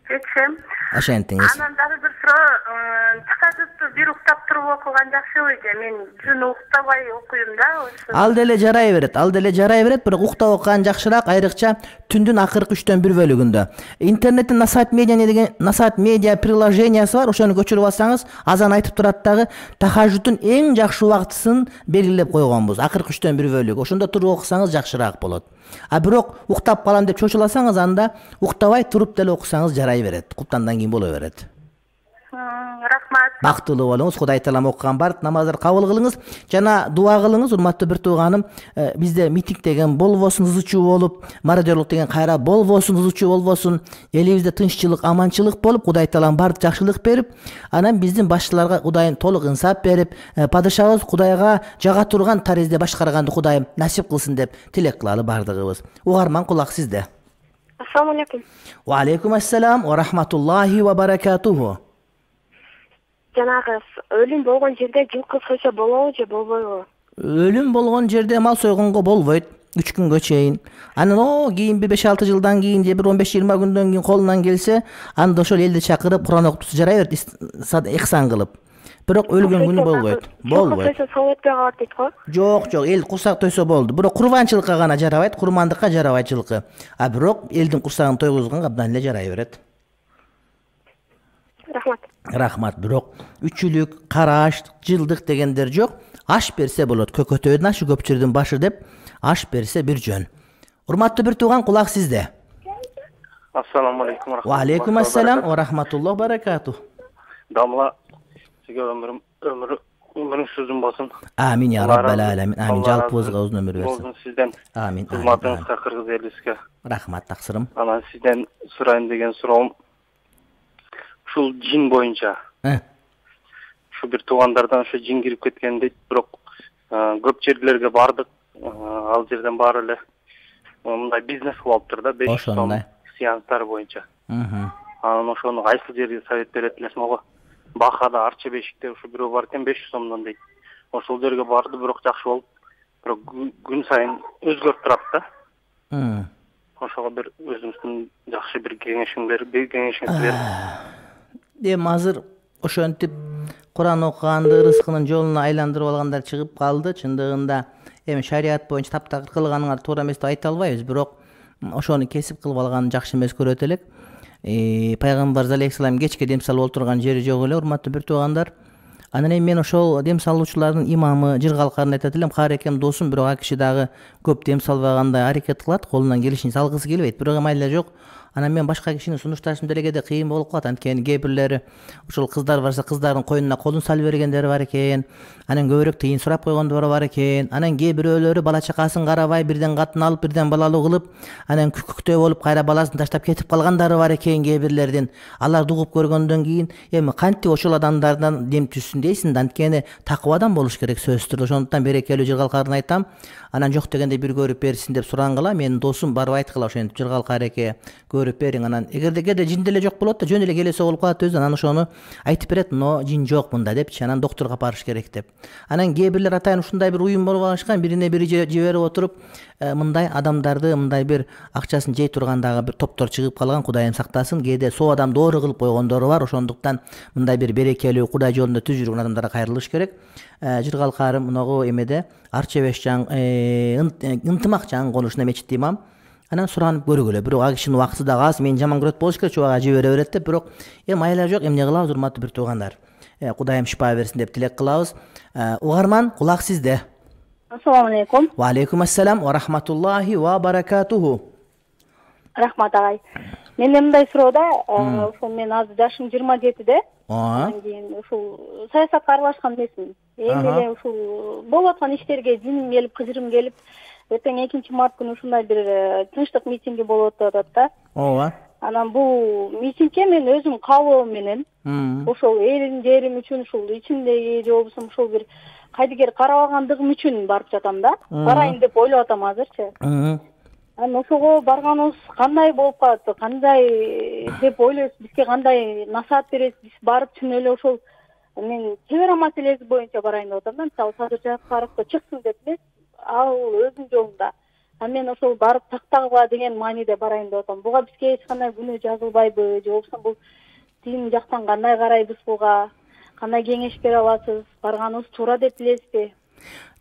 Жетишем. Ошентиңиз. Анан дагы бир суроо, тахажжудту бир уктап туруп окуган жакшыбы же? Мен түн уктабай окуйм да. Ал деле жарай берет, ал деле жарай берет, бирок уктап окуган жакшыраак, айрыкча түндүн акыркы үчтөн бир бөлүгүндө. Интернеттен Насаат медиа деген Насаат медиа приложениясы бар, ошону көчүрүп алсаңыз, азан айтып турат дагы, тахажжудтун эң жакшы убактысын белгилеп койгонбуз. Акыркы үчтөн бир бөлүгү. Ошондо туруп окусаңыз жакшыраак болот. А бирок уктап калам деп чочуласаңыз, анда уктабай туруп деле окусаңыз жарай берет. Куптандан кийин боло берет. Рахмат. Бактылуу болуңуз. Кудай таалам окуган бардык намаздар кабыл кылыңыз. Жана дуа кылыңыз, урматтуу бир тууганым. Бизде митинг деген болбосун, ызычуу болуп, мародерлук деген кайра болбосун, ызычуу болбосун. Элибизде тынччылык, аманчылык болуп, Кудай таалам бардык жакшылык берип, анан биздин башчыларга Кудайым толук инсап берип, падышабыз Кудайга жага турган таризде башкарганды Кудайым насип кылсын деп тилек кылалы бардыгыбыз. Угарман кулак сизде. Ассаламу алейкум. Ва алейкум ассалам ва рахматуллахи ва баракатуху. жанагы өлүм болгон жерде жылкы сойсо болобу же болбойбу? Өлүм болгон жерде мал сойгонго болбойт үч күнгө чейин. Анан о кийин бир беш алты жылдан кийин же бир он беш жыйырма күндөн кийин колунан келсе, анда ошол элди чакырып Куран окутуп жарай берет, ихсан кылып. Бирок өлгөн күнү болбойт. Болбойт. Сойсо соо өтпөй калат дейт го. Жок, жок, эл курсак тойсо болду. Бирок курбанчылыкка гана жарабайт, курмандыкка жарабайт жылкы. А бирок элдин курсагын тойгузганга абдан эле жарай берет. Рахмат. Рахмат. Бирок үчүлүк, караш, жылдык дегендер жок. Аш берсе болот. Көкөтөдүн ашы көпчүлүктүн башы деп аш берсе бир жөн. Урматтуу бир тууган, кулак сизде. Ассаламу алейкум. Ва алейкум ассалам ва рахматуллах баракату. Дамла сизге өмүрүм өмүр өмүрүңүз uzun болсун. Амин я раббал аламин. Амин. Жалпыбызга uzun ömür versin. Болсун сизден. Амин. Кызматыңызга, кыргыз элибизге. Рахмат, таксырым. Анан сизден сурайын деген суроом ушул жин боюнча. Ушу бир туугандардан ошо жин кирип кеткен дейт, бирок көп жерлерге бардык. Ал жерден баары эле мындай бизнес кылып алыптыр да, беш жүз сом сеанстар боюнча. Анан ошону кайсы жерге совет берет элесиң го? Бахада Арча бешикте ушу бирөө бар экен беш жүз сомдон дейт. Ошол жерге барды, бирок жакшы болуп, бирок күн сайын өзгөрүп турат да. Ошого бир өзүңүздүн жакшы бир кеңешиң берип, кеңешиңизди берип. Эми азыр ошентип Куран окуганды рызкынын жолуна айландырып алгандар чыгып калды. Чындыгында эми шарият боюнча таптакыр кылганыңар туура эмес деп айта албайбыз, бирок ошону кесип кылып алган жакшы эмес көрөт элек. Пайгамбар алейхиссалам кечке дем салып отурган жери жок эле, урматтуу бир туугандар. Анан эми мен ошол дем салуучулардын имамы Жыргалкарын айтат элем. Карекем досум, бирок ал киши дагы көп дем салбагандай аракет кылат, колунан келишинче салгысы келбейт, бирок майла жок. Анан мен башка кишини сунушташым делегеде кыйын болуп калат. Анткени кээ бирлери ошол кыздар барса кыздардын коюнуна колун салып бергендери бар экен. Анан көбүрөөк тыйын сурап койгондору бар экен. Анан кээ бирөөлөрү бала чакасын карабай, бирден катын алып, бирден балалуу кылып, анан күкүктөө болуп кайра баласын таштап кетип калгандары бар экен кээ бирлердин. Аларды угуп көргөндөн кийин эми кантип ошол адамдардан дем түссүн дейсиң да, анткени такыбадан болуш керек сөзсүз түрдө. Ошондуктан берекелүү Жыргалкарын айтам. Анан жок дегенде бир көрүп берсин деп сурангыла. Менин досум барып айткыла ошентип Жыргалкар эке көрүп бериң. Анан эгерде кээде жин деле жок болот да, жөн эле келесе болуп калат өзү. Анан ошону айтып берет, но жин жок мында депчи. Анан доктурга алып барыш керек деп. Анан кээ бирлер атайын ушундай бир уюм болуп алышкан, бирине бири жиберип отуруп, мындай адамдарды мындай бир акчасын жей тургандагы бир топтор чыгып калган. Кудайым сактасын. Кээде соо адам доору кылып койгондору бар. Ошондуктан мындай бир берекелүү Кудай жолунда түз жүргөн адамдарга кайрылыш керек. Жыргалкарым мынагу эмеде Арча беш жан ынтымак жан конушуна мечитте имам. Анан суранып көргүлө. Бирок ал кишинин убакыты дагы аз, мени жаман көрөт болуш керек, чубага жибере берет деп, бирок эми майла жок, эмне кылабыз урматтуу бир туугандар. Кудайым шипа берсин деп тилек кылабыз. Угарман, кулак сизде. Ассаламу алейкум. Ва алейкум ассалам ва рахматуллахи ва баракатуху. Рахмат агай. Менде мындай суроо да, ошол мен азыр жашым жыйырма жетиде. Анан кийин ушул саясатка аралашкан эмесмин. Эми эле ушул болуп аткан иштерге жиним келип, кыжырым келип, эртең экинчи март күнү ушундай бир тынчтык митинги болуп атат да. Ооба. Анан бул митингге мен өзүм кабылым менен ошол элим жерим үчүн, ушул ичимдеги же болбосо ушул бир кайдыгер карабагандыгым үчүн барып жатам да. Барайын деп ойлоп атам азырчы. Анан ошого барганыбыз кандай болуп калат, кандай деп ойлойсуз, бизге кандай насаат бересиз, биз барып чын эле ошол мен чебера маселеси боюнча барайын деп атам да. Мисалы Садыр Жапаровго чыксын деп эле, ал өзүнүн жолунда. А мен ошол барып тактагыла деген мааниде барайын деп атам. Буга бизге эч кандай күнөө жазылбайбы, же болбосо бул дин жактан кандай карайбыз буга, кандай кеңеш бере аласыз, барганыбыз туура деп билесизби?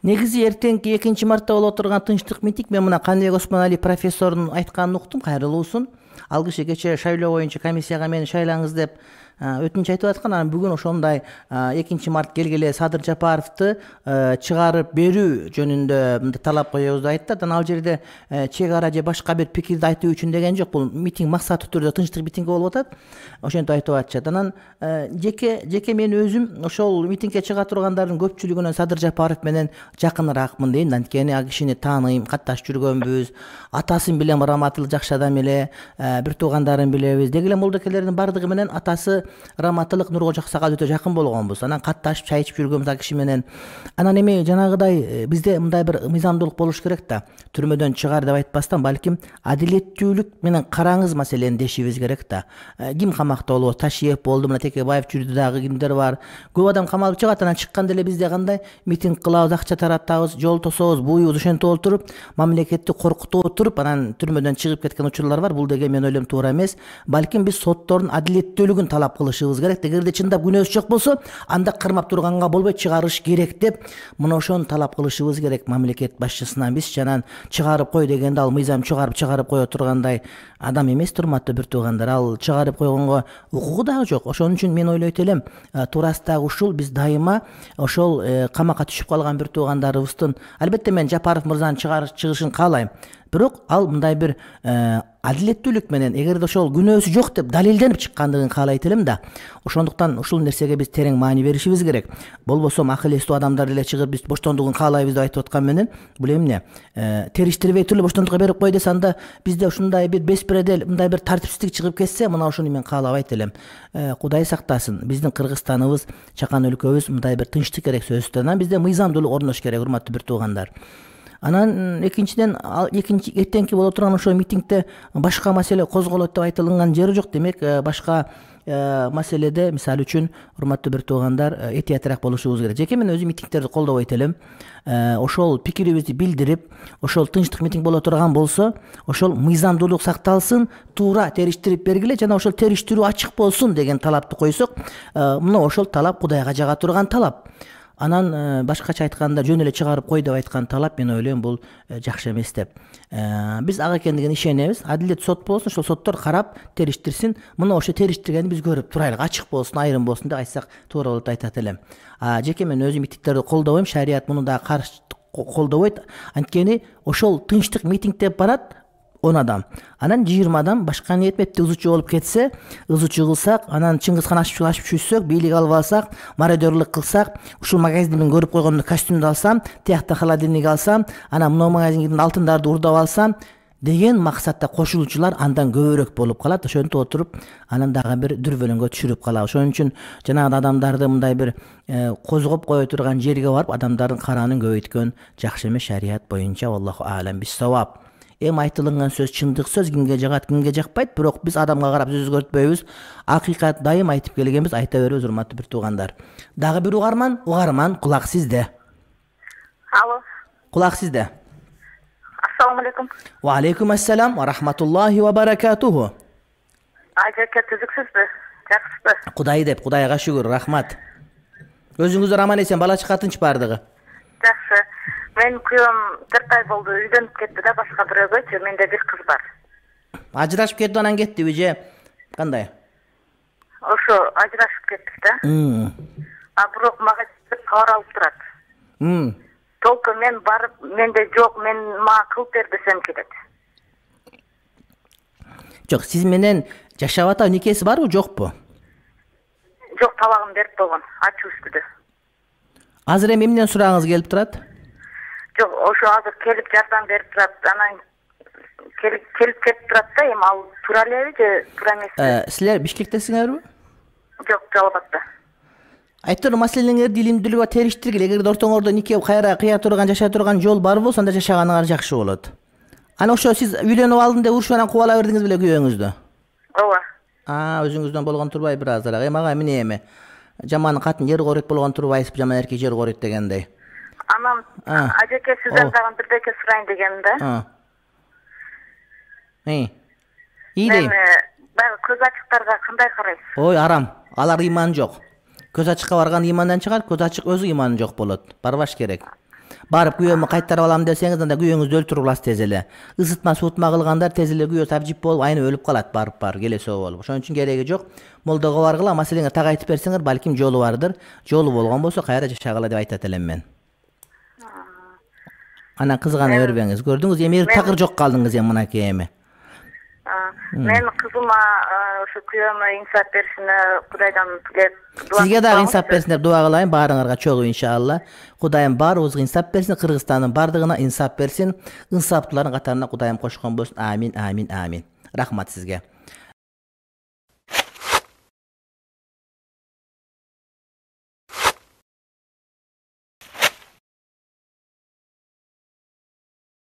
Негизи эртеңки экинчи мартта болуп отурган тынчтык митинг, мен мына Каныбек Осмонали профессордун айтканын уктум, кайрылуусун. Ал киши кечээ шайлоо боюнча комиссияга мени шайлаңыз деп өтүнүч айтып аткан. Анан бүгүн ошондой экинчи март келгеле Садыр Жапаровду чыгарып берүү жөнүндө талап коебуз деп айтты. Анан ал жерде чек ара же башка бир пикирди айтуу үчүн деген жок. Бул митинг максаттуу түрдө тынчтык митинги болуп атат. Ошентип айтып атышат. Анан жеке жеке мен өзүм ошол митингге чыга тургандардын көпчүлүгүнөн Садыр Жапаров менен жакыныраакмын дейм. Анткени ал кишини тааныйм, катташып жүргөнбүз. Атасын билем, раматыл жакшы адам эле, бир туугандарын билебиз. Деги эле молдокелердин бардыгы менен атасы раматылык Нургожо Аксакал өтө жакын болгонбуз. Анан катташып чай ичип жүргөнбүз ал киши менен. Анан эми жанагыдай бизде мындай бир мыйзамдуулук болуш керек да. Түрмөдөн чыгар деп айтпастан, балким адилеттүүлүк менен караңыз маселени дешибиз керек да. Ким камакта болобу? Ташиев болду, мына Текебаев жүрдү, дагы кимдер бар? Көп адам камалып чыгат, анан чыкканда эле бизде кандай митинг кылабыз, акча таратабыз, жол тособуз, буюбуз ошентип отуруп, мамлекетти коркутуп отуруп, анан түрмөдөн чыгып кеткен учурлар бар. Бул деген мен ойлойм туура эмес. Балким биз соттордун адилеттүүлүгүн талап кылышыбыз керек. Эгерде чындап күнөөсү жок болсо, анда кырмап турганга болбойт, чыгарыш керек деп мына ошону талап кылышыбыз керек мамлекет башчысынан. Биз жанан чыгарып кой дегенде ал мыйзам чыгарып чыгарып кое тургандай адам эмес, урматтуу бир туугандар. Ал чыгарып койгонго укугу дагы жок. Ошон үчүн мен ойлойт элем, туурасындагы ушул биз дайыма ошол камакка түшүп калган бир туугандарыбыздын, албетте мен Жапаров мырзанын чыгышын каалайм. Бирок ал мындай бир адилеттүүлүк менен, эгерде ошол күнөөсү жок деп далилденип чыккандыгын каалайт элем да. Ошондуктан ушул нерсеге биз терең маани беришибиз керек. Болбосо акыл эстүү адамдар эле чыгып биз боштондугун каалайбыз деп айтып аткан менен, бул эмне? Териштирбей туруп боштондукка берип кой десе, анда бизде ушундай бир беспредел, мындай бир тартипсиздик чыгып кетсе, мына ошону мен каалабайт элем. Кудай сактасын. Биздин Кыргызстаныбыз, чакан өлкөбүз мындай бир тынчтык керек сөзсүз. Анан бизде мыйзамдуулук орнош керек, урматтуу бир туугандар. Анан экинчиден, экинчи эртеңки боло турган ошо митингде башка маселе козголот деп айтылган жери жок. Демек, башка маселеде, мисалы үчүн, урматтуу бир туугандар, этиятыраак болушубуз керек. Жеке мен өзүм митингтерди колдобойт элем. Ошол пикирибизди билдирип, ошол тынчтык митинг боло турган болсо, ошол мыйзамдуулук сакталсын, туура териштирип бергиле жана ошол териштирүү ачык болсун деген талапты койсок, мына ошол талап Кудайга жага турган талап. Анан башкача айтканда жөн эле чыгарып кой деп айткан талап, мен ойлойм, бул жакшы эмес деп. Биз ага экендигине ишенебиз. Адилет сот болсун, ошол соттор карап териштирсин. Мына ошо териштиргенди биз көрүп турайлык, ачык болсун, айрым болсун деп айтсак туура болот деп айтат элем. Жеке мен өзүм митингтерди колдобойм, шарият муну да каршы колдобойт. Анткени ошол тынчтык митинг деп барат он адам. Анан жыйырма адам башка ниетметте ызычу болуп кетсе, ызычу кылсак, анан Чыңгызхан ашып ашып түшсөк, бийлик алып алсак, мародёрлук кылсак, ушул магазинди мен көрүп койгондо костюмду алсам, тиякта холодильник алсам, анан мына магазиндин алтындарды урдап алсам деген максатта кошулуучулар андан көбүрөөк болуп калат. Ошентип отуруп, анан дагы бир дүрбөлөңгө түшүрүп калабыз. Ошон үчүн жанагы адамдарды мындай бир козгоп кое турган жерге барып, адамдардын караанын көбөйткөн жакшы эмес шарият боюнча. Аллаху аалам бис-саваб. Эми айтылган сөз чындык сөз, кимге жагат, кимге жакпайт, бирок биз адамга карап сөз өзгөртпөйбүз. Акыйкат дайым айтып келгенбиз, айта беребиз, урматтуу бир туугандар. Дагы бир угарман, угарман, кулак сизде. Алло. Кулак сизде. Ассаламу алейкум. Ва алейкум ассалам ва рахматуллахи ва баракатуху. Ажаке түзүксүзбү? Жакшысызбы? Кудай деп, Кудайга шүгүр, рахмат. Өзүңүздөр аман эсен, бала чака тынч бардыгы? Жакшы. Мен күйөөм төрт ай болду, үйдөнүп кетти да, башка бирөөгөчү. Менде бир кыз бар. Ажырашып кетти, анан кеттиби же кандай? Ошо ажырашып кеттик да. А бирок мага кабар алып турат. Толку мен барып, менде жок, мен мага кылып бер десем келет. Жок, сиз менен жашап атат, никеси барбы, жокпу? Жок, талагын берип койгон, ачуу үстүдө. Азыр эми эмнен сурагыңыз келип турат? Жок, ошо азыр келип жардам берип турат. Анан келип келип кетип турат да, эми ал туура элеби же туура эмеспи? Силер Бишкектесиңерби? Жок, Жалал абадта. Айтор маселеңерди илимдүүлүгү териштиргиле. Эгерде ортоңордо нике кайра кыя турган, жашай турган жол бар болсо, анда жашаганыңар жакшы болот. Анан ошо сиз үйлөнүп алдым деп урушуп анан кубала бердиңиз беле күйөөңүздү? Ооба. А, өзүңүздөн болгон турбай бир азыраак. Эми ага эмне эми? Жаман катын жер коройт болгон турбайсызбы, жаман эркек жер коройт дегендей. Анан ажеке сизден дагы бирдеке сурайын дегеним да. Эй. Ийдейм. Баягы көз ачыктарга кандай карайсыз? Ой, арам. Алар ыйман жок. Көз ачыкка барган ыймандан чыгар, көз ачык өзү ыйманы жок болот. Барбаш керек. Барып күйөөмү кайтарып алам десеңиз, анда күйөөңүздү өлтүрүп аласыз тез эле. Ысытма, суутма кылгандар тез эле күйөө сабжип болуп, айнып өлүп калат, барып барып келесөө болуп. Ошон үчүн кереги жок. Молдого баргыла, маселеңе так айтып берсеңер, балким жолу бардыр. Жолу болгон болсо кайра жашагыла деп айтат элем мен. Анан кызгана бербеңиз. Көрдүңүз, эми такыр жок калдыңыз эми мынакей эми. Мен кызыма ошо күйөөмө инсап беришине Кудайдан тилеп дуа. Сизге дагы инсап берсин деп дуа кылайын, баарыңарга чогуу иншалла. Кудайым баарыбызга инсап берсин, Кыргызстандын бардыгына инсап берсин. Инсаптуулардын катарына Кудайым кошкон болсун. Амин, амин, амин. Рахмат сизге.